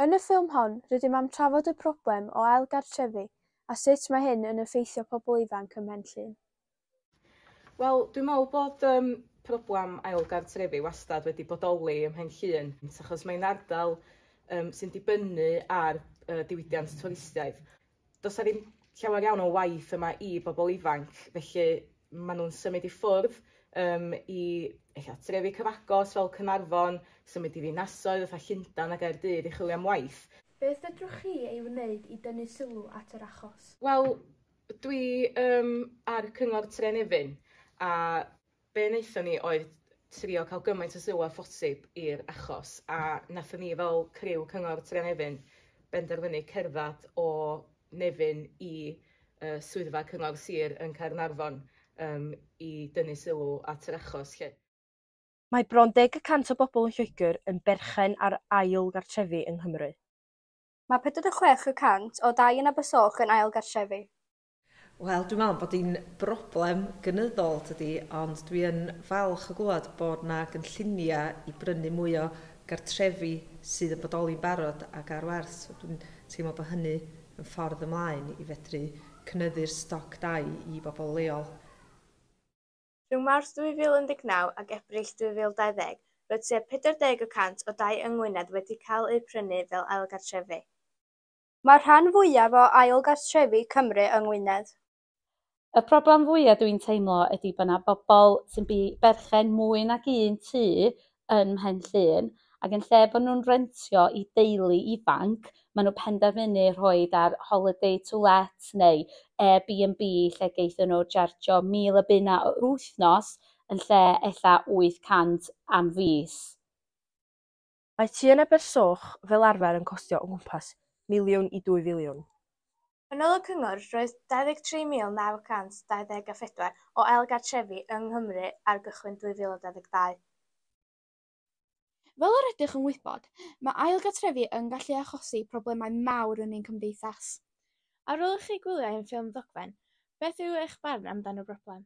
Yn y ffilm hon, rydym am trafod y problem o ail gartrefi a sut mae hyn yn effeithio pobl ifanc ym Mhen Llŷn. Wel, dwi'n meddwl bod yym problem ail gartrefi wastad wedi bodoli ym Mhen Llŷn, achos mae'n ardal yym sy'n dibynnu ar y diwydiant twristiaeth. Does 'na ddim llawer iawn o waith yma i bobl ifanc, felly maen nhw'n symud i ffwrdd yym i ella trefi cyfagos fel Caernarfon, symud i ddinasoedd fatha Llundain a Gaerdydd i chwilio am waith. Beth fedrwch chi ei wneud i dynnu sylw at yr achos? Wel, dwi yym ar Cyngor Tre Nefyn a be wnaethon ni oedd trio cael gymaint o sylw â phosib i'r achos a nathon ni fel criw Cyngor Tre Nefyn benderfynu cerdded o Nefyn i yy swyddfa Cyngor Sir yn Caernarfon yym i dynnu sylw at yr achos 'lly. Mae bron 10% o bobl yn Lloegr yn berchen ar ail gartrefi yng Nghymru. Mae 46% o dai yn Abersoch yn ail gartrefi. Wel, dwi'n meddwl bod hi'n broblem gynyddol, tydi, ond dwi yn falch o glywed bod 'na gynlluniau i brynu mwy o gartrefi sydd yn bodoli'n barod ac ar werth. So dwi'n teimlo bod hynny yn ffordd ymlaen i fedru cynyddu'r stoc dai i bobl leol. Rhwng Mawrth 2019 ac Ebrill 2020, roedd tua 40 y cant o dai yng Ngwynedd wedi cael eu prynu fel ail gartrefi. Mae'r rhan fwyaf o ail gartrefi Cymru yng Ngwynedd. Y problem fwya dwi'n teimlo ydi bo' 'na bobol sy'n berchen mwy nag un tŷ yn Mhen Llŷn ac yn lle bo' nhw'n rentio i deulu ifanc, ma' nhw penderfynu rhoid ar holiday to let neu Airbnb lle geithon nhw jarjio 1,000 o bunna yr wythnos yn lle ella 800 am fis. Mae tŷ yn Abersoch fel arfer yn costio o gwmpas miliwn i 2 filiwn. Yn ôl y cyngor, roedd 23,924 o ail gartrefi yng Nghymru ar gychwyn 2022. Fel yr ydych yn wybod, mae ail gartrefi yn gallu achosi problemau mawr yn ein cymdeithas. Ar ôl i chi gwylio ein ffilm ddogfen, beth yw eich barn amdan y broblem?